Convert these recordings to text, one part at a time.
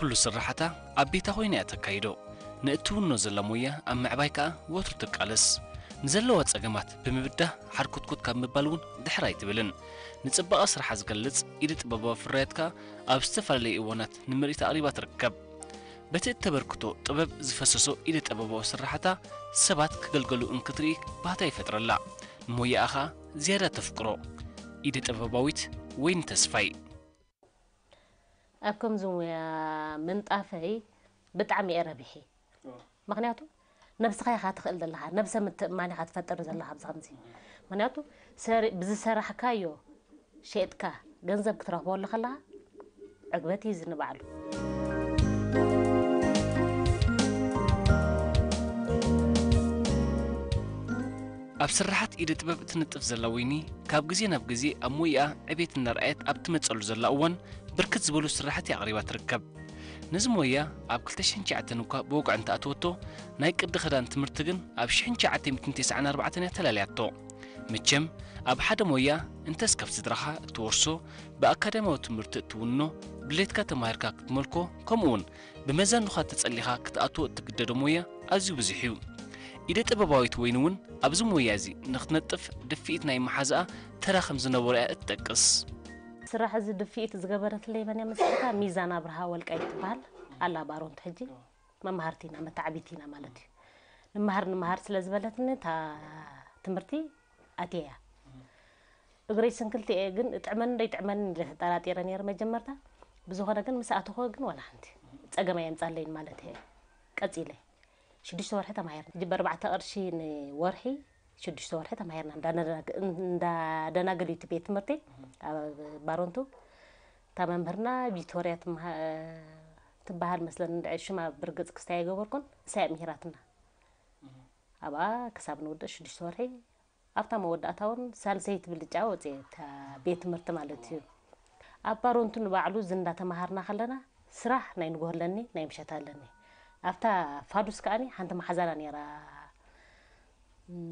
ኩሉ ስራሕታ ኣብ ቤታ ኮይና እያ ተካይዶ። ንእትውኖ ዘላ ሞያ ኣብ ምዕባይ ከኣ ወትሩ ትቃለስ። ንዘለዋ ጸገማት ብምብዳህ ሓርኮትኮት ካብ ምባል እውን ድሕር ኣይትብልን። ንጽባቐ ስራሓ ዝገልጽ ኢደ ጥበባዊ ፍርያት ከኣ ኣብ ዝተፈላለዩ እዋናት ንምርኢት ኣቕሪባ ትርከብ። በቲ እተበርክቶ ጥበብ ዝፈሰሶ ኢደ ጥበባዊ ስራሕታ ሰባት ክገልገሉ እንክትርኢ ባህታ ይፈጥረላ። ንሞያኣ ኸኣ ዝያዳ ተፍቅሮ። ኢደ ጥበባዊት ወይኒ ተስፋይ። ኣብ ከምዚ ሙያ ምንጣፈይ ብጣዕሚ እየ ረቢሐ። ምኽንያቱ ነብስኻ ኢኻ ትኽእል ዘለኻ፣ ነብሰ ምትእምማን ኢኻ ትፈጥር ዘለኻ ኣብዚ ከምዚ። ምኽንያቱ ሰሪ-፣ ብዝሰራሕካዮ ሸይጥካ ገንዘብ ክትረኽበሉ ከለኻ ዕግበት እዩ ዝንባዕሉ። ኣብ ስራሓት ኢደ ጥበብ እትንጥፍ ዘላ ወይኒ፣ ካብ ግዜ ናብ ግዜ ኣብ ሞያኣ ዕቤት እናርኣየት ኣብ ትመጸሉ ዘላ እዋን፣ ብርክት ዝበሉ ስራሓት ኣቕሪባ ትርከብ። ነዚ ሞያ ኣብ ክልተ ሽሕን ትሽዓተን እኳ ብወግዒ እንተኣተወቶ፣ ናይ ቅዲ ክዳን ትምህርቲ ግን ኣብ ሽሕን ትሽዓተ ሚእትን ተስዓን ኣርባዕተን እያ ተላልያቶ። መቸም፣ ኣብ ሓደ ሞያ እንተስ ካብ ስድራኻ እትወርሶ፣ ብኣካዳሚያዊ ትምህርቲ እትውኖ፣ ድሌትካ ተማሂርካ ክትመልኮ፣ ከምኡውን ብመዛኑኻ ተጸሊኻ ክትኣትዎ እትግደዶ ሞያ ኣዝዩ ብዙሕ እዩ። ኢደ ጥበባዊት ወይኒ እውን ኣብዚ ሞያ እዚ ንኽትነጥፍ ድፍኢት ናይ መሓዛኣ ተራ ከም ዝነበሮ እያ እትጠቅስ። ስራሕ እዚ ድፍኢት ዝገበረትለይ መን እያ መሲልካ? ሚዛን ኣብርሃ ወልቃይት ትበሃል ኣላ፣ ባሮንት ሕጂ። መማህርቲ ኢና፣ መተዓቢቲ ኢና ማለት እዩ። ንመሃር ንመሃር ስለ ዝበለትኒ እታ ትምህርቲ ኣትየያ። እግረይ ስንክልቲ እየ፣ ግን እጥዕመኒ ዶ ይጥዕመኒ ኢለ ተጠራጢረ ነይረ መጀመርታ። ብዝኾነ ግን ምስ ኣተኹ ግን ዋላ ሓንቲ ጸገም ኣየምጻለይን ማለት እየ። ቀጺለ ሽዱሽተ ወርሒ ተማሂርና። ሕጂ ብኣርባዕተ ቅርሺ ንወርሒ ሽዱሽተ ወርሒ ተማሂርና። እንዳደናግ-፣ እንዳደናገል እዩ እቲ ቤት ትምህርቲ ኣብ ባሮንቱ። እታ መምህርና ቪክቶርያ ትምሃ-፣ ትበሃል መስለኒ፣ እንድዒ ሽማ ብርግጽ ክስታይ ኣይገበርኩን፣ እሳ እያ ምሂራትና። ኣብኣ ክሳብ ንውድእ ሽዱሽተ ወርሒ ኣብታ መወዳእታ እውን ሳልሰይቲ ብልጫ ወፅየ፣ እታ ቤት ትምህርቲ ማለት እዩ። ኣብ ባሮንቱ ንባዕሉ እዚ እንዳተምሃርና ከለና ስራሕ ናይ ንግሆ ኣለኒ፣ ናይ ምሸት ኣለኒ። ኣብታ ፋዱስ ከኣኒ ሓንቲ መሓዛና ነይራ፣ እም፣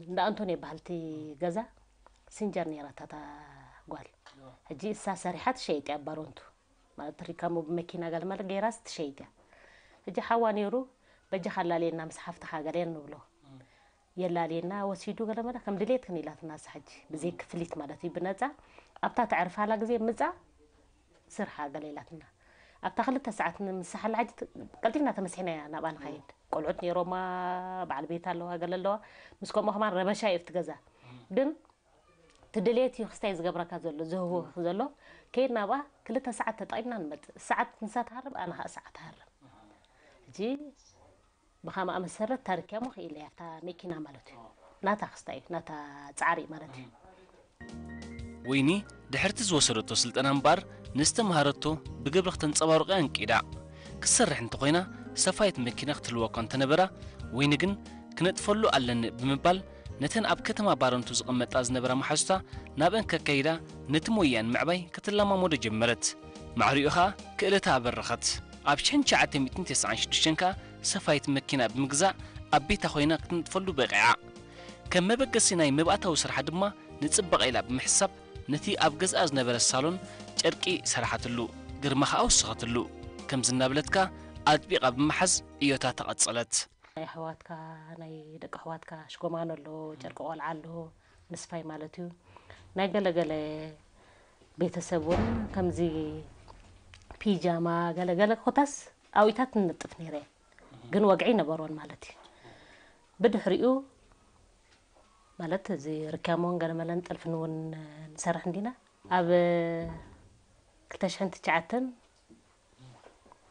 እንዳ ኣንቶንዮ በሃልቲ ገዛ ሲንጀር ነይራ እታ ጓል። ሕጂ እሳ ሰሪሓ ትሸይጥ እያ ኣብ ባሮንቱ። ማለት ሪካሞ ብመኪና ገለመለ ገይራስ ትሸይጥ እያ። ሕጂ ሓዋ ነይሩ፣ በጃኻ ኣላልየና ምስ ሓፍትኻ ገለ ንብሎ። የላልየና ወሲዱ ገለመለ ከም ድሌትክን ኢላትና እሳ ሕጂ። ብዘይ ክፍሊት ማለት እዩ፣ ብነጻ። ኣብታ ተዕርፋላ ግዜ ምጻ ስርሓ ገለ ኢላትና። ኣብታ ክልተ ሰዓት ንምሳሓላ ሕጂ ት-፣ ቀልጢፍና ተመሲሕና ኢና ናብኣ ንኸይድ። ቆልዑት ነይሮማ፣ በዓል ቤት ኣለዋ፣ ገለ ኣለዋ። ምስ ከምኡ ከማን ረበሻ እዩ ኣብቲ ገዛ። ግን እቲ ድሌት እዩ ክስታይ ዝገብረካ ዘሎ፣ ዝህወኽ ዘሎ። ከይድና ኣብኣ ክልተ ሰዓት ተጠቒምና ንመጽእ። ሰዓት ንሳ ትሃርም፣ ኣነ ኸኣ ሰዓት እሃርም። ሕጂ ብኸምኣ መሰረት ታሪክያ ሞ ክኢለያ፣ እታ መኪና ማለት እዩ። ናታ ክስታይ እዩ፣ ናታ ጻዕሪ ማለት እዩ። ወይኒ ድሕርቲ ዝወሰደቶ ስልጠና እምበኣር፣ ንዝተምሃረቶ ብግብሪ ክተንጸባርቖ ኣንቂዳ። ክትሰርሕ እንተኾይና፣ ሰፋይት መኪና ክትህልዋ እኳ እንተነበራ፣ ወይኒ ግን ክነጥፈሉ ኣለኒ ብምባል፣ ነተን ኣብ ከተማ ባረንቱ ዝቕመጣ ዝነበራ መሓዙታ ናብአን ከካይዳ፣ ነቲ ሞያኣን ምዕባይ ክትለማመዶ ጀመረት። ማዕሪኡ ኸኣ ክእለታ ኣበረኸት። ኣብ ሽሕን ትሽዓተ ሚእትን ተስዓን ሽዱሽተን ከኣ ሰፋይት መኪና ብምግዛእ ኣብ ቤታ ኮይና ክትነጥፈሉ በቒዓ። ከም መበገሲ ናይ መባእታዊ ስርሓ ድማ ንጽባቐ ኢላ ብምሕሳብ ነቲ ኣብ ገዝኣ ዝነበረ ሳሎን ጨርቂ ሰራሓትሉ፣ ግርማ ከኣ ወሰኸትሉ። ከምዚ እናበለት ከኣ ኣጥቢቓ ብምሓዝ ዕዮታ ተቐጸለት። ናይ ኣሕዋትካ፣ ናይ ደቂ ኣሕዋትካ ሽጎማኖ ኣሎ፣ ጨርቂ ቆልዓ ኣሎ፣ ምስፋይ ማለት እዩ። ናይ ገለ ገለ ቤተሰብ እውን ከምዚ ፒጃማ ገለ ገለ ኮታስ ኣውኢታት ንነጥፍ ነይረ እየ። ግን ወግዒ ነበሮን ማለት እዩ። ብድሕሪኡ ማለት እዚ ርካሞን ገለመለን ጥልፍን እውን ንሰርሕ እንዲና። ኣብ ክልተ ሽሕን ትሽዓተን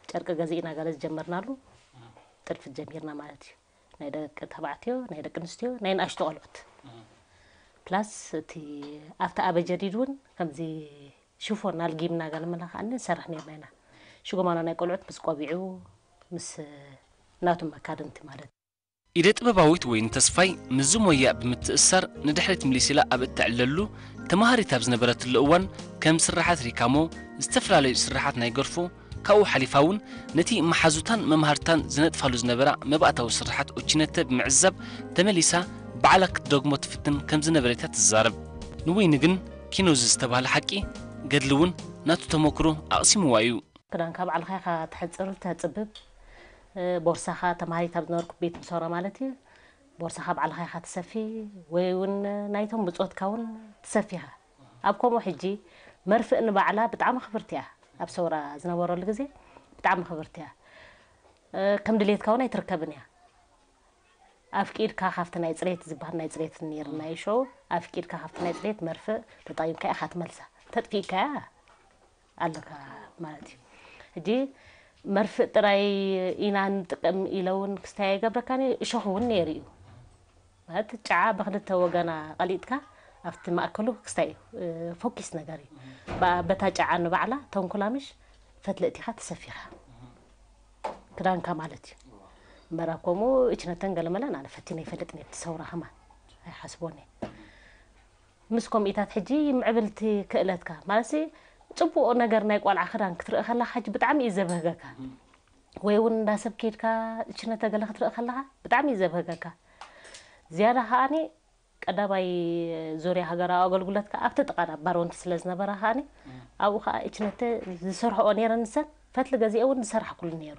ጨርቂ ገዚእና ገለ ዝጀመርናሉ ጥልፊ ጀሚርና ማለት እዩ። ናይ ደቂ ተባዕትዮ፣ ናይ ደቂ ኣንስትዮ፣ ናይ ንኣሽቱ ቆልዑት። ፕላስ እቲ ኣብቲ ኣበ ጀዲድ እውን ከምዚ ሽፎን ኣልጊምና ገለ መለ ከኣ ንሰርሕ ነርና ኢና። ሽጎማኖ ናይ ቆልዑት ምስ ቆቢዑ፣ ምስ ናቱ መካድንቲ ማለት እዩ። ኢደ ጥበባዊት ወይኒ ተስፋይ ምስዚ ሞያ ብምትእስሳር ንድሕሪት ምሊስ ኢላ ኣብ እተዕልለሉ፣ ተማሃሪት ኣብ ዝነበረትሉ እዋን ከም ስርሓት ሪካሞ፣ ዝተፈላለዩ ስርሓት ናይ ገርፎ፣ ካብኡ ሓሊፋ እውን ነቲ መሓዙታን መማህርታን ዝነጥፋሉ ዝነበራ መባእታዊ ስርሓት ኦቺነተ ብምዕዛብ ተመሊሳ ባዕላ ክትደግሞ ትፍትን ከም ዝነበረት እያ ትዛረብ። ንወይኒ ግን ኪኖዚ ዝተባህለ ሓቂ ገድሊ እውን ናቱ ተመክሮ ኣቕሲምዋ እዩ። ክዳንካ ባዕልኻ ኢኻ ትሕጽር፣ ተጽብብ። እ፣ ቦርሳኻ፣ ተማሃሪት ኣብ ዝነበርኩ ቤት ምሶራ ማለት እዩ፣ ቦርሳኻ ባዕልኻ ኢኻ ትሰፊ፣ ወይ እውን ናይቶም ብጾትካ እውን ትሰፊኻ። ኣብ ከምኡ ሕጂ መርፍእ ንባዕላ ብጣዕሚ ክብርቲ እያ። ኣብ ሰውራ ዝነበረሉ ግዜ ብጣዕሚ ክብርቲ እያ። እ፣ ከም ድሌትካ እውን ኣይትርከብን እያ። ኣፍቂድካ ካብቲ ናይ ጽሬት ዝበሃል ናይ ጽሬት ነይርና እዩ ሸው፣ ኣፍቂድካ ካብቲ ናይ ጽሬት መርፍእ ተጠቒምካ ኢኻ ትመልሳ። ተጥፊእካያ ኣለካ ማለት እዩ። ሕጂ መርፍእ ጥራይ ኢና ንጥቀም ኢለ እውን ክስታይ ኣይገብረካን እዩ። እሾኽ እውን ነይሩ እዩ። ማለት ጨዓ ብክልተ ወገና ቀሊጥካ ኣብቲ ማእከሉ ክስታይ እዩ። እ፣ ፎኪስ ነገር እዩ። ባ-፣ በታ ጨዓ ንባዕላ ተንኩላምሽ ፈትሊ እቲኻ ተሰፊኻ። ክዳንካ ማለት እዩ። እምበር ኣብ ከምኡ እችነተን ገለመለን ኣነ ፈቲነ ይፈልጥን እየ፣ ብቲ ሰውራ ከማን ኣይሓስቦን እየ። ምስ ከምኢታት ሕጂ ምዕብልቲ ክእለትካ፣ ማለትሲ ጽቡቕ ነገር ናይ ቆልዓ ክዳን ክትርኢ ከለኻ ሕጂ ብጣዕሚ እዩ ዘብህገካ። ወይ እውን እንዳ ሰብ ከይድካ እችነተ ገለ ክትርኢ ከለኻ ብጣዕሚ እዩ ዘብህገካ። ዝያዳ ከኣኒ ቀዳማይ ዙርያ ሃገራዊ ኣገልግሎት ከኣ ኣብቲ ጥቓና ባሮንቲ ስለ ዝነበራ ከኣኒ ኣብኡ ከኣ እችነተ ዝሰርሕኦ ነይረን ንሰን ፈትሊ ገዚኤ እውን ዝሰራሕኩሉ ነይሩ።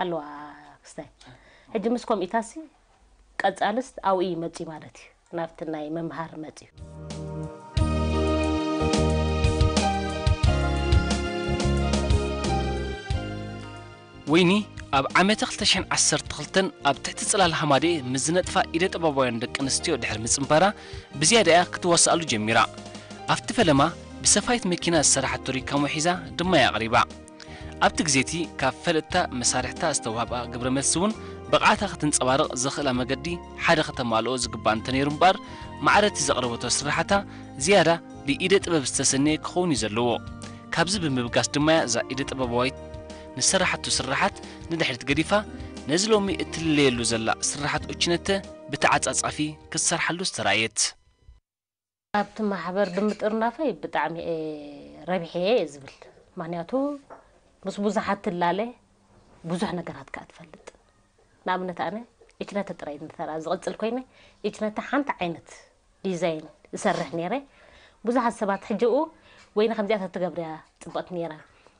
ኣለዋ ክስታይ። ሕጂ ምስ ከምኢታሲ ቀጻልስ ኣብኡ እዩ መጺኡ ማለት እዩ። ናብቲ ናይ ምምሃር መጺኡ። ወይኒ ኣብ ዓመተ ክልተ ሽሕን ዓሰርተ ክልተን ኣብ ትሕቲ ጽላል ሃማደኤ ምስ ዝነጥፋ ኢደ ጥበባውያን ደቂ ኣንስትዮ ድሕሪ ምጽንባራ ብዝያዳ እያ ክትዋስኣሉ ጀሚራ። ኣብቲ ፈለማ ብሰፋይት መኪና ዝሰራሓቶ ሪካሞ ሒዛ ድማ እያ ኣቕሪባ። ኣብቲ ግዜ እቲ ካብ ፈለጥታ መሳርሕታ ዝተዋህባ ግብረ መልሲ እውን ብቕዓታ ክትንጸባረቕ ዘኽእላ መገዲ ሓደ ከተማልኦ ዝግባእ እንተነይሩ እምበኣር ማዕረ እቲ ዘቕረበቶ ስርሓታ ዝያዳ ብኢደ ጥበብ ዝተሰነየ ክኸውን እዩ ዘለዎ። ካብዚ ብምብጋስ ድማ እያ እዛ ኢደ ጥበባዊት ንሰራሓቱ ስርሓት ንድሕሪት ገዲፋ ነዚ ሎሚ እትልለየሉ ዘላ ስርሓት ኦችነተ ብተዓጻጻፊ ክትሰርሓሉ ዝተራእየት። ኣብቲ ማሕበር ብምጥርናፈይ ብጣዕሚ እየ ረቢሐ እየ ዝብል። ምኽንያቱ ምስ ብዙሓት ትላለ ብዙሕ ነገራት ከኣ ትፈልጥ። ንኣብነት ኣነ ኢችነተ ጥራይ እንተራ ዝቕጽል ኮይነ ኢችነተ ሓንቲ ዓይነት ዲዛይን እሰርሕ ነይረ። ብዙሓት ሰባት ሕጂ ኡ ወይኒ ከምዚኣ ተትገብርያ ጽብቕቲ ነይራ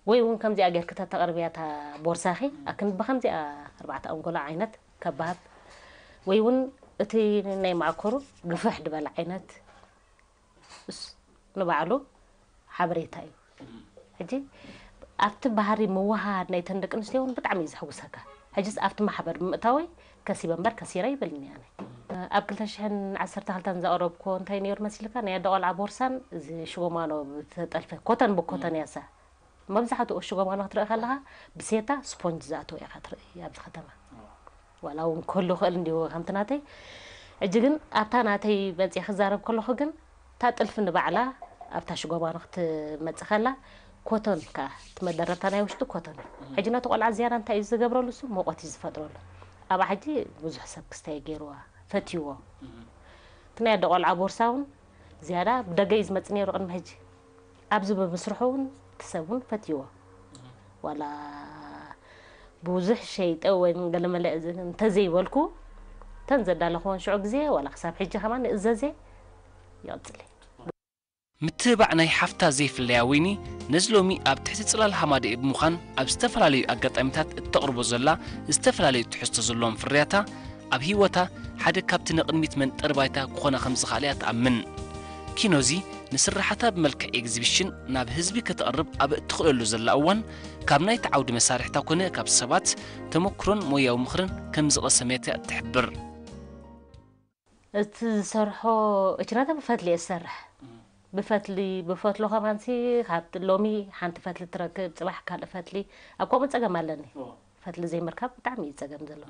ወይ እውን ከምዚኣ ጌርኪ ተተቕርብያ እታ ቦርሳኺ ኣክን ብከምዚኣ ኣርባዕተ ኣንጎሎ ዓይነት ከባብ ወይ እውን እቲ ናይ ማእከሩ ግፍሕ ድበለ ዓይነት እስ ንባዕሉ ሓበሬታ እዩ። ሕጂ ኣብቲ ባህሪ ምውሃድ ናይተን ደቂ ኣንስትዮ እውን ብጣዕሚ እዩ ዘሕጉሰካ። ሕጂስ ኣብቲ ማሕበር ብምእታወይ ከሲበ እምበር ከሲረ ይብልኒ ኣነ። ኣብ ክልተ ሽሕን ዓሰርተ ክልተን ዘቕረብኩዎ እንታይ ነይሩ መሲልካ? ናይ ኣደ ቆልዓ ቦርሳን እዚ ሽጎማኖ ዝተጠልፈ ኮተን ብኮተን እያ እሳ። መብዛሕትኡ ሽጎማኖ ክትርኢ ከለኻ ብሴታ ስፖንጅ ዝኣተወ ኢኻ ትርኢ ኣብዚ ከተማ። ዋላ እውን ክህሉ ክእል እንዲሁ ከምቲ ናተይ። ሕጂ ግን ኣብታ ናተይ መፅየ ክዛረብ ከለኹ ግን እታ ጥልፊ ንባዕላ ኣብታ ሽጎማኖ ክትመፅእ ከላ ኮቶን ከኣ እቲ መደረብታ ናይ ውሽጢ ኮቶን እዩ። ሕጂ ነቲ ቆልዓ ዝያዳ እንታይ እዩ ዝገብረሉ? እሱ ሙቐት እዩ ዝፈጥረሉ። ኣብኣ ሕጂ ብዙሕ ሰብ ክስታይ ገይርዋ ፈትይዎ። እቲ ናይ ኣደ ቆልዓ ቦርሳ እውን ዝያዳ ብደገ እዩ ዝመፅእ ነይሩ ቅድሚ ሕጂ። ኣብዚ ብምስርሑ እውን እቲ ሰብ እውን ፈትይዎ። ዋላ ብዙሕ ሸይጠ ወይ ገለመለ እዚ እንተዘይበልኩ እተን ዘዳለኽወን ሽዑ ግዜ ዋላ ክሳብ ሕጂ ከማን ንእዘዜ ይቕፅል እዩ። ምትብባዕ ናይ ሓፍታ ዘይፍለያ ወይኒ ነዚ ሎሚ ኣብ ትሕቲ ጽላል ሃማደኤ ብምዃን ኣብ ዝተፈላለዩ ኣጋጣሚታት እተቕርቦ ዘላ ዝተፈላለዩ ትሕዝቶ ዘለዎም ፍርያታ ኣብ ህይወታ ሓደ ካብቲ ንቕድሚት መንጠሪ ባይታ ክኾና ከም ዝኽኣላ እያ ትኣምን። ኪኖዚ ንስርሓታ ብመልክዕ ኤግዚቢሽን ናብ ህዝቢ ከተቕርብ ኣብ እትኽእለሉ ዘላ እዋን ካብ ናይቲ ዓውዲ መሳርሕታ ኮነ ካብ ሰባት ተመክሮን ሞያዊ ምኽርን ከም ዝቐሰመት እያ እትሕብር። እቲ ዝሰርሖ እችነታ ብፈትሊ እየ ዝሰርሕ። ብፈትሊ ብፈትሎ ከማንሲ ካብ ሎሚ ሓንቲ ፈትሊ ትረክብ፣ ጽባሕ ካልእ ፈትሊ። ኣብ ከምኡ ጸገም ኣለኒ። ፈትሊ ዘይምርካብ ብጣዕሚ እዩ ጸገም ዘሎ።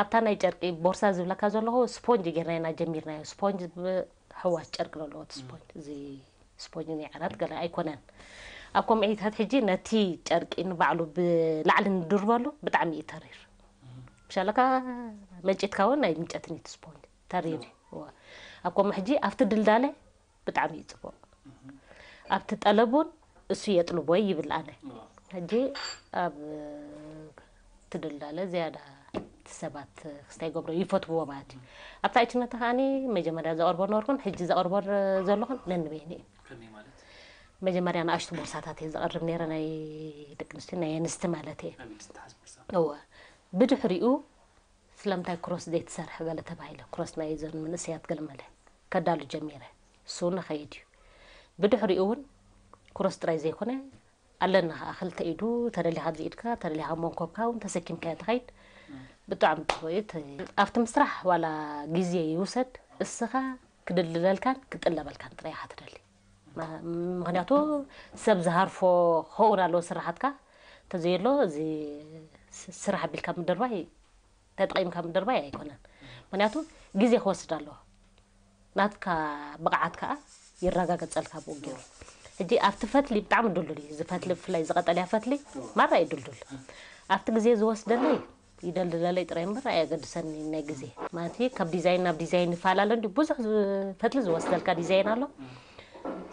ኣብታ ናይ ጨርቂ ቦርሳ ዝብለካ ዘለኹ ስፖንጅ ጌርና ኢና ጀሚርናዮ። ስፖንጅ ብ-፣ ሕዋስ ጨርቂ ዘለዎ እቲ ስፖንጅ። እዚ ስፖንጅ ናይ ዓራት ገለ ኣይኮነን። ኣብ ከምዒታት ሕጂ ነቲ ጨርቂ ንባዕሉ ብላዕሊ ንድርበሉ ብጣዕሚ እዩ ተሪር። ምሻለካ መንጨትካ እውን ናይ ምንጨትን እዩ እቲ ስፖንጅ ተሪር እዩ። እዋ። ኣብ ከምኡ ሕጂ ኣብቲ ድልዳለ ብጣዕሚ እዩ ጽቡቕ። ኣብቲ ጠለብ እውን እሱ የጥልቦ ይብል ኣነ። ሕጂ ኣብ ትድላለ ዝያዳ እቲ ሰባት ክስታይ ገብሮ ይፈትውዎ ማለት እዩ። ኣብታ እችነታ ከዓኒ መጀመርያ ዘቕርቦ ነበርኩን ሕጂ ዘቕርቦ ዘለኹን ነንበይኒ እዩ። ከመይ ማለት? መጀመርያ ንኣሽቱ ቦርሳታት እየ ዘቕርብ ነይረ፣ ናይ ደቂ ኣንስትዮ፣ ናይ ኣንስቲ ማለት እየ። እወ። ብድሕሪኡ ስለምንታይ ክሮስ ዘይትሰርሕ ገለ ተባሂለ። ክሮስ ናይ ዘን መንእሰያት ገለ መለ ከዳሉ ጀሚረ። እሱ እውን ኸይድ እዩ። ብድሕሪኡ እውን ክሮስ ጥራይ ዘይኮነ ኣለና ኸዓ ክልተ ኢዱ፣ ተደሊኻ ብዚ ኢድካ፣ ተደሊኻ መንኮብካ እውን ተሰኪምካዮ ትኸይድ። ብጣዕሚ ጽቡቕ እዩ። እቲ ኣብቲ ምስራሕ ዋላ ግዜ ይውሰድ፣ እስኻ ክድልድለልካን ክጥለበልካን ጥራይ ኢኻ ትደሊ። ማ-፣ ምኽንያቱ ሰብ ዝሃርፎ ክኸውን ኣለዎ ስራሓትካ። እንተዘየሎ እዚ ስ-፣ ስራሕ ኣቢልካ ምድርባይ፣ ተጠቒምካ ምድርባይ ኣይኮነን። ምኽንያቱ ግዜ ክወስድ ኣለዎ። ናትካ ብቕዓት ከኣ ይረጋገጸልካ ብኡ ገይሩ። ሕጂ ኣብቲ ፈትሊ ብጣዕሚ ድልዱል እዩ። እዚ ፈትሊ ብፍላይ እዚ ቀጠልያ ፈትሊ ማራ እዩ ድልዱል። ኣብቲ ግዜ ዝወስደለይ ይደልደለለይ ጥራይ እምበር ኣየገድሰኒ ናይ ግዜ። ማለት ካብ ዲዛይን ናብ ዲዛይን ይፈላለ እንዲ ብዙሕ ዝ-፣ ፈትሊ ዝወስደልካ ዲዛይን ኣሎ።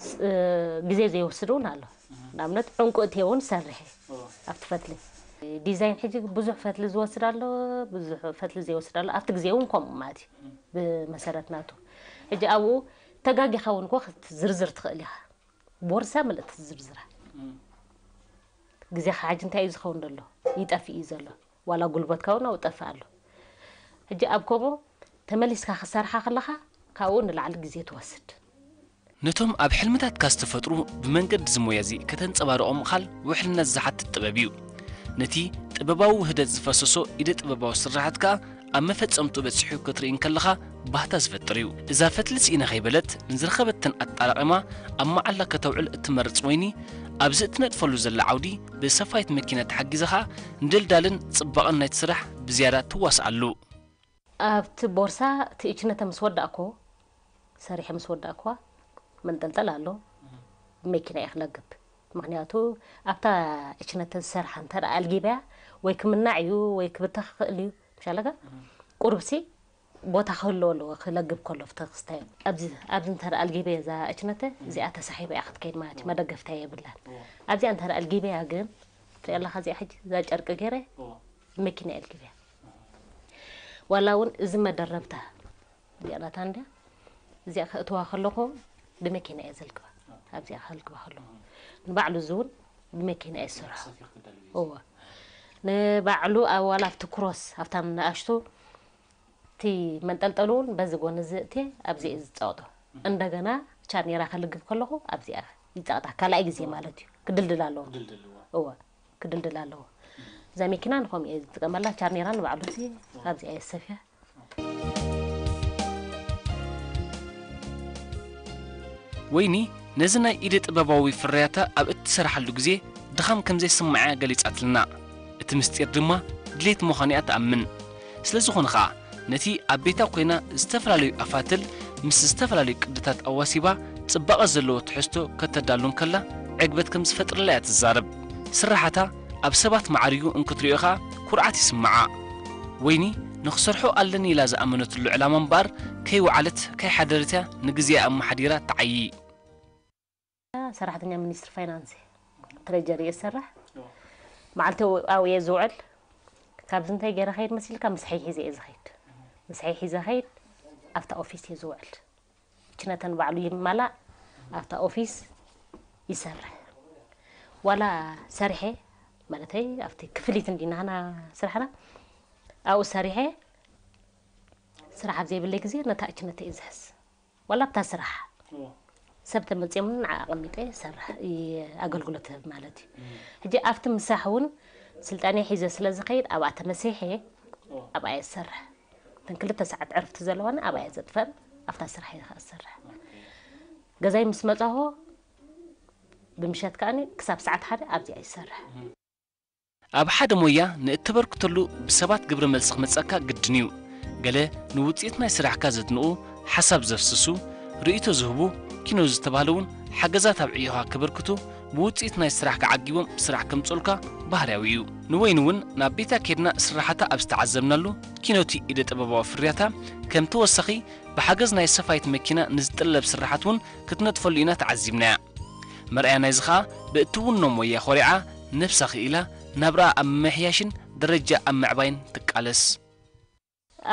ስ-፣ ግዜ ዘይወስድ እውን ኣሎ። ንኣብነት ዕንቁ እትየ እውን ሰርሐ ኣብቲ ፈትሊ። ዲዛይን ሕጂ ብዙሕ ፈትሊ ዝወስድ ኣሎ፣ ብዙሕ ፈትሊ ዘይወስድ ኣሎ። ኣብቲ ግዜ እውን ከምኡ ማለት እዩ። ብመሰረት ናቱ። ሕጂ ኣብኡ ተጋጊኻ እውን እኮ ክትዝርዝር ትኽእል ኢኻ። ቦርሳ ምልእቲ ዝርዝራ። ግዜኻ ሕጂ እንታይ እዩ ዝኸውን ዘሎ? ይጠፍእ እዩ ዘሎ። ዋላ ጉልበትካ እውን ኣብኡ ጠፍእ ኣሎ። ሕጂ ኣብ ከምኡ ተመሊስካ ክትሰርሓ ከለኻ ካብኡ ንላዕሊ ግዜ ትወስድ። ነቶም ኣብ ሕልምታትካ ዝተፈጥሩ ብመንገዲ እዚ ሞያ እዚ ከተንጸባርቖም ምኻል ውሕልነት ዝሓትት ጥበብ እዩ። ነቲ ጥበባዊ ውህደት ዝፈሰሶ ኢደ ጥበባዊ ስርሓት ከኣ ኣብ መፈጸምቱ በጺሑ ክትርኢ እንከለኻ ባህታ ዝፈጥር እዩ። እዛ ፈትሊ ስኢነ ከይበለት ንዝረኸበተን ኣጣራቒማ ኣብ መዓላ ከተውዕል እትመርጽ ወይኒ ኣብዚ እትነጥፈሉ ዘላ ዓውዲ ብሰፋይት መኪና ተሓጊዛ ኸኣ ንድልዳልን ጽባቐን ናይቲ ስራሕ ብዝያዳ ትዋስኣሉ። ኣብቲ ቦርሳ እቲ እችነተ ምስ ወዳእኮ፣ ሰሪሐ ምስ ወዳእኳ መንጠልጠል ኣሎ። ብመኪና እየ ክለግብ። ምኽንያቱ ኣብታ እችነተ ዝሰርሓ እንተ ደኣ ኣልጊበያ ወይ ክምናዕ እዩ ወይ ክብተኽ ክኽእል እዩ። ምሻለካ ቁሩብሲ ቦታ ክህልዎ ኣለዎ ክለግብ ከሎ ፍተ ክስታይ። ኣብዚ፣ ኣብዚ እንተ ደኣ ኣልጊበያ እዛ እችነተ እዚኣ ተሳሒባ እያ ክትከይድ ማለት እዩ። መደገፍታ የብላን። ኣብዚኣ እንተ ደኣ ኣልጊበያ ግን ትሪኣ ኣለኻ እዚኣ ሕጂ እዛ ጨርቂ ገይረ መኪና እየ ኣልጊበያ። ዋላ እውን እዚ መደረብታ እዚኣ ናታ እንድያ። እዚኣ ከእትዋ ከለኹ ብመኪና እየ ዘልግባ። ኣብዚኣ ከልግባ ከለኹ ንባዕሉ እዚ እውን ብመኪና እየ ዝሰርሖ። እወ። ንባዕሉ ኣብ ዋላ ኣብቲ ክሮስ ኣብታ ንኣሽቱ እቲ መንጠልጠሉ እውን በዚ ጎኒ እዚ እትየ ኣብዚ እየ ዝጸቕጦ። እንደገና ቻኔራ ከልግብ ከለኹ ኣብዚኣ ይጸቕጣ። ካልኣይ ግዜ ማለት እዩ። ክድልድል ኣለዎ። እወ። ክድልድል ኣለዎ። እዛ መኪና ንኸምኡ እየ ዝጥቀመላ። ቻኔራ ንባዕሉ እዚ ኣብዚኣ እየ ዝሰፍያ። ወይኒ ነዚ ናይ ኢደ ጥበባዊ ፍርያታ ኣብ እትሰርሓሉ ግዜ ድኻም ከም ዘይስምዓ እያ ገሊጻትልና። እቲ ምስጢር ድማ ድሌት ምዃኑ እያ ትኣምን። ስለ ዝኾነ ኸኣ ነቲ ኣብ ቤታ ኮይና ዝተፈላለዩ ኣፋትል ምስ ዝተፈላለዩ ቅድታት ኣዋሲባ ጽባቐ ዘለዎ ትሕዝቶ ከተዳሉ እንከላ ዕግበት ከም ዝፈጥረላ እያ ትዛረብ። ስርሓታ ኣብ ሰባት ማዕሪጉ እንክትሪኦ ኸኣ ኩርዓት ይስምዓ። ወይኒ ንኽሰርሖ ኣለኒ ኢላ ዝኣመነትሉ ዕላማ እምበኣር ከይወዓለት ከይሓደረት እያ ንግዜኣ ኣመሓዲራ ትዓዪ። ሰራሕተኛ ሚኒስትሪ ፋይናንስ እየ። ትሬጀሪ እየ ዝሰርሕ። መዓልቲ ኣብኡ እየ ዝውዕል። ካብዚ እንታይ ገይረ ኸይድ መሲልካ? ምሳሐይ ሒዘ እየ ዝኸይድ። ምሳሐይ ሒዘ ኸይድ ኣብታ ኦፊስ እየ ዝውዕል። ችነተን ባዕሉ ይማላእ ኣብታ ኦፊስ ይሰርሕ። ዋላ ሰሪሐ ማለተይ ኣብቲ ክፍሊት እንዲናህና ስራሕና ኣብኡ ሰሪሐ ስራሕ ኣብ ዘይብለይ ግዜ ነታ እችነተይ እየ ዝሕዝ። ዋላ ኣብታ ስራሕ ሰብ ተመፅዮም ንዓ ኣቐሚጠ ይሰርሕ፣ ይ-፣ ኣገልግሎት ህብ ማለት እዩ። ሕጂ ኣብቲ ምሳሕ እውን ስልጣነ ሒዘ ስለ ዝኸይድ ኣብኣ ተመሲሐ ኣብኣ እየ ዝሰርሕ። እተን ክልተ ሰዓት ዕርፍቲ ዘለዋኒ ኣብኣ እየ ዘጥፈን፣ ኣብታ ስራሕ እየ ከዓ ዝሰርሕ። ገዛይ ምስ መፃኹ ብምሸት ከዓኒ ክሳብ ሰዓት ሓደ ኣብዚኣ ይሰርሕ። ኣብ ሓደ ሞያ ንእተበርክተሉ ብሰባት ግብረ መልሲ ክመጸካ ግድን እዩ። ገለ ንውጽኢት ናይ ስራሕካ ዘድንቑ፣ ሓሳብ ዘፍስሱ፣ ርእይቶ ዝህቡ፣ ኪኖ ዝተባህለ እውን ሓገዛት ኣብ ዕዮኻ ከበርክቱ፣ ብውጽኢት ናይ ስራሕካ ዓጊቦም ስራሕ ከምጽኡልካ ባህርያዊ እዩ። ንወይኒ እውን ናብ ቤታ ኬድና ስራሓታ ኣብ ዝተዓዘብናሉ፣ ኪኖቲ ኢደ ጥበባዊ ፍርያታ ከም ተወሳኺ ብሓገዝ ናይ ሰፋይት መኪና ንዝጥለብ ስራሓት እውን ክትነጥፈሉ ኢና ተዓዚብናያ። መርኣያ ናይዚ ኸኣ ብእትውኖ ሞያ ኾሪዓ ነብሳ ክኢላ ናብርኣ ኣብ ምምሕያሽን ደረጃ ኣብ ምዕባይን ትቃለስ።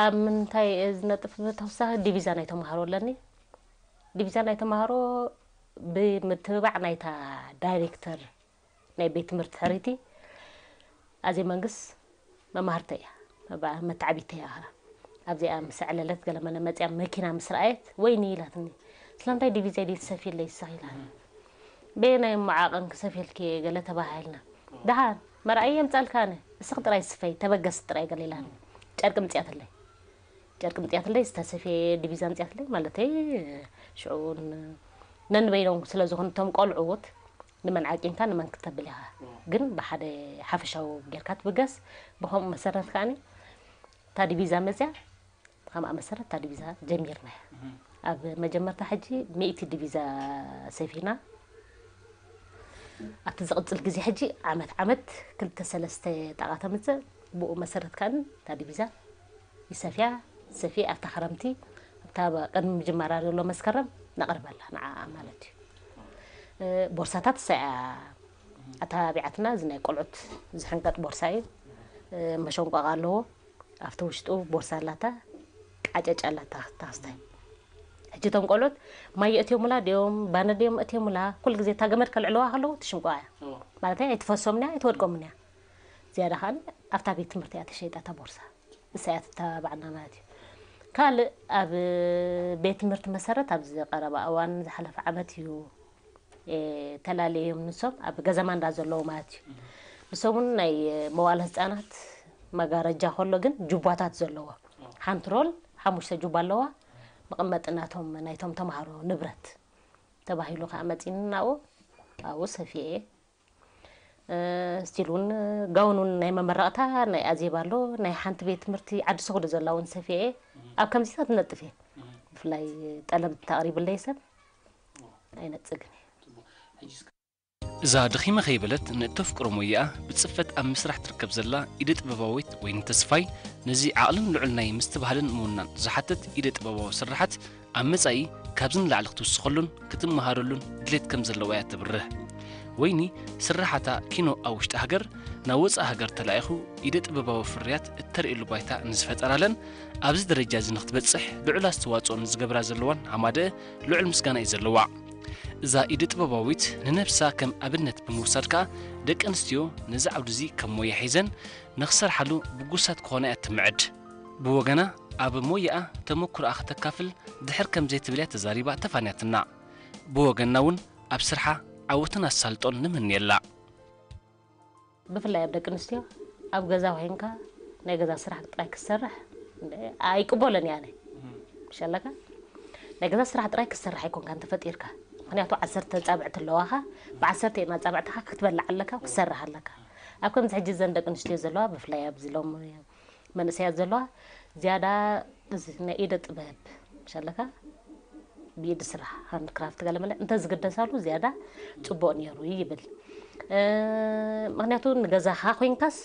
ኣብ ምንታይ እየ ዝነጥፍ? ብተወሳኺ ዲቪዛ ናይ ተምሃሮ ኣለኒ። ዲቪዛ ናይ ተምሃሮ ብምትብባዕ ናይታ ዳይሬክተር ናይ ቤት ትምህርቲ ሕርይቲ ኣዜ መንግስ መማህርተ እያ፣ መባ- መተዓቢተ እያ። ኣብዚኣ ምስ ኣዕለለት ገለ መለ መፅያ መኪና ምስ ረኣየት ወይኒ ኢላትኒ። ስለምንታይ ዲቪዛ ደይ ትሰፊለይ ይስኽ ኢላትኒ። በየናይ መዓቐን ክሰፊልኪ ገለ ተባሃልና። ደሓን መርኣይ የምፃልካ ኣነ እስኽ ጥራይ ስፈይ ተበገስ ጥራይ ገለ ኢላትኒ። ጨርቂ ምፅያትለይ ጨርቂ ምፅያትለይ ዝተሰፍየ ዲቪዛ ምፅያትለይ ማለተይ ሽዑ ነንበይኖም ስለ ዝኾኑ እቶም ቆልዑት ንመን ዓቂንካ ንመን ክተብል ኢኻ ግን ብሓደ ሓፈሻዊ ጌርካ ትብገስ። ብከምኡ መሰረት ከዓኒ እታ ዲቪዛ መፅያ ብከምኣ መሰረት እታ ዲቪዛ ጀሚርና እያ። ኣብ መጀመርታ ሕጂ ሚእቲ ዲቪዛ ሰፊና ኣብቲ ዝቕፅል ግዜ ሕጂ ዓመት ዓመት ክልተ ሰለስተ ጣቓ ተምፅእ። ብኡ መሰረት ከዓኒ እታ ዲቪዛ ይሰፍያ ሰፊ ኣብታ ክረምቲ ኣብታ ቅድሚ ምጅማራ ዘሎ መስከረም ነቕርበላ ንዓ ማለት እዩ። ቦርሳታት ሰያ ኣተባቢዓትና እዚ ናይ ቆልዑት ዝሕንቀጥ ቦርሳ እዩ። መሸንቆቕ ኣለዎ ኣብቲ ውሽጡ ቦርሳ ኣላታ ቃጨጭ ኣላታ ታስታይ። ሕጂ እቶም ቆልዑት ማይ የእትዮሙላ ድዮም ባነ ድዮም እትዮሙላ ኩሉ ግዜ እታ ገመድ ከልዕለዋ ከለዉ ትሽንቆ እያ ማለት ኣይትፈሶምን እያ ኣይትወድቆምን እያ። ዝያዳ ከዓ ኣብታ ቤት ትምህርቲ እያ ተሸይጣ እታ ቦርሳ። እሳ እያ ትተባባዕና ማለት እዩ። ካልእ ኣብ ቤት ትምህርቲ መሰረት ኣብዚ ቀረባ እዋን ዝሓለፈ ዓመት እዩ ተላለዮም ንሶም ኣብ ገዛ ማንዳ ዘለዉ ማለት እዩ። ንሶም እውን ናይ መዋለ ህፃናት መጋረጃ ከሎ ግን ጁባታት ዘለዎ ሓንቲ ሮል ሓሙሽተ ጁባ ኣለዋ። መቐመጢ ናቶም ናይቶም ተምሃሮ ንብረት ተባሂሉ ከዓ መፂኒ ናብኡ ኣብኡ ሰፊኤ ስቲል እውን ጋውን እውን ናይ መመረቕታ ናይ ኣዜብ ኣሎ ናይ ሓንቲ ቤት ትምህርቲ ዓዲ ሰጉዶ ዘላ እውን ሰፊኤ ኣብ ከምዚታት ትነጥፍ እየ። ብፍላይ ጠለብ ተቕሪብለይ ሰብ ኣይነጽግን እየ። እዛ ድኺመ ከይበለት ንእተፍቅሮ ሞያኣ ብጽፈት ኣብ ምስራሕ ትርከብ ዘላ ኢደ ጥበባዊት ወይኒ ተስፋይ፣ ነዚ ዓቕልን ልዑል ናይ ምስትብሃልን ምውናን ዝሓትት ኢደ ጥበባዊ ስርሓት ኣብ መጻኢ ካብዚ ንላዕሊ ክትውስኸሉን ክትመሃረሉን ድሌት ከም ዘለዋ እያ ተብርህ። ወይኒ ስርሓታ ኪኖ ኣብ ውሽጢ ሃገር ናብ ወጻኢ ሃገር ተላኢኹ ኢደ ጥበባዊ ፍርያት እተርእየሉ ባይታ ንዝፈጠራለን ኣብዚ ደረጃ እዚ ንክትበጽሕ ልዑል ኣስተዋጽኦ ንዝገብራ ዘለዋን ኣማደእ ልዑል ምስጋና እዩ ዘለዋ። እዛ ኢደ ጥበባዊት ንነብሳ ከም ኣብነት ብምውሳድ ከኣ ደቂ ኣንስትዮ ነዚ ዓውዲ እዚ ከም ሞያ ሒዘን ንኽሰርሓሉ ብጉሳት ክኾና እያ እትምዕድ። ብወገና ኣብ ሞያኣ ተመኩሮኣ ክተካፍል ድሕር ከም ዘይትብል እያ ተዛሪባ ተፋንያትና። ብወገንና እውን ኣብ ስርሓ ዓወትን ኣሳልጦን ንምንየላ። ብፍላይ ኣብ ደቂ ኣንስትዮ ኣብ ገዛ ኮይንካ ናይ ገዛ ስራሕ ጥራይ ክትሰርሕ ኣይቅበሎን እየ ኣነ። ምሽ ኣለካ ናይ ገዛ ስራሕ ጥራይ ክትሰርሕ ኣይኮንካን ተፈጢርካ። ምክንያቱ ዓሰርተ ኣጻብዕቲ ኣለዋኻ፣ ብዓሰርተ ኣጻብዕትኻ ክትበልዕ ኣለካ፣ ክትሰርሕ ኣለካ። ኣብ ከምዚ ሕጂ እዘን ደቂ ኣንስትዮ ዘለዋ ብፍላይ ኣብዚ ሎም መንእሰያት ዘለዋ ዝያዳ እዚ ናይ ኢደ ጥበብ ምሽ ኣለካ ብኢድ ስራሕ ሃንድ ክራፍት ገለ መለ እንተዝግደሳሉ ዝያዳ ጽቡቕ ነይሩ ይብል። ምክንያቱ ንገዛኻ ኮይንካስ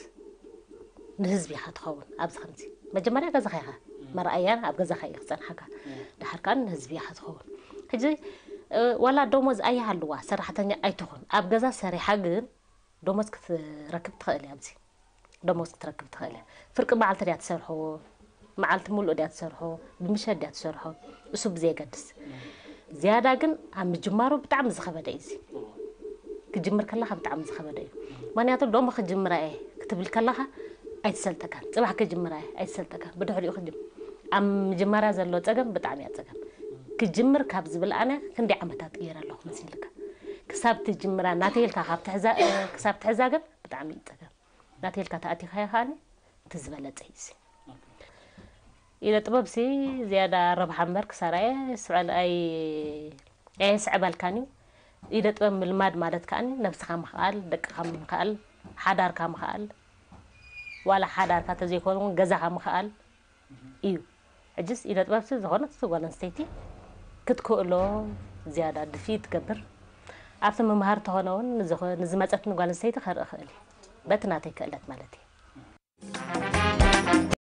ንህዝቢ ኢኻ ትኸውን። ኣብዚ ከምዚ መጀመርያ ገዛኻ ኢኻ መርኣያ ኣብ ገዛኻ እዩ ክጸንሓካ። ድሓር ከዓ ንህዝቢ ኢኻ ትኸውን። ሕጂ ዋላ ደሞዝ ኣይሃልዋ ሰራሕተኛ ኣይትኹን ኣብ ገዛ ሰሪሓ ግን ደሞዝ ክትረክብ ትኽእል እያ ኣብዚ ደሞዝ ክትረክብ ትኽእል እያ። ፍርቂ መዓልቲ ድያ ትሰርሖ መዓልቲ ሙሉእ ድያ ትሰርሖ ብምሸት ድያ ትሰርሖ እሱ ብዘየገድስ ዝያዳ ግን ኣብ ምጅማሩ ብጣዕሚ ዝኸበደ እዩ እዚ ክጅምር ከለኻ ብጣዕሚ ዝኸበደ እዩ። ምክንያቱ ሎሚ ክጅምራ እየ ክትብል ከለኻ ኣይትሰልጠካን። ፅባሕ ክጅምራ እየ ኣይትሰልጠካን። ብድሕሪኡ ክጅም ኣብ ምጅማርያ ዘሎ ፀገም ብጣዕሚ እያ ፀገም። ክጅምር ካብ ዝብል ኣነ ክንደይ ዓመታት ገይረ ኣለኹ መሲልካ ክሳብ ትጅምራ እናተይልካ ካብ ትሕዛ ክሳብ ትሕዛ ግን ብጣዕሚ እዩ ፀገም። ናተይ ኢልካ ተኣቲኻዮ ከዓኒ እቲ ዝበለፀ እዩ እዚ። ኢደ ጥበብ ሲ ዝያዳ ረብሓ እምበር ክሳራ እየ ስዕል ኣይ ኣየስዕበልካን እዩ። ኢደ ጥበብ ምልማድ ማለት ከዓኒ ነብስኻ ምኽኣል፣ ደቅኻ ምኽኣል፣ ሓዳርካ ምኽኣል፣ ዋላ ሓዳርካ ተዘይኮነ እውን ገዛኻ ምኽኣል እዩ። ሕጅስ ኢደ ጥበብ ሲ ዝኾነት ጓል ኣንስተይቲ ክትክእሎ ዝያዳ ድፍኢት ትገብር። ኣብቲ ምምሃር ተኾነ እውን ንዝመፀትኒ ጓል ኣንስተይቲ ከርኢ ክእል እዩ። በቲ ናተይ ክእለት ማለት እዩ።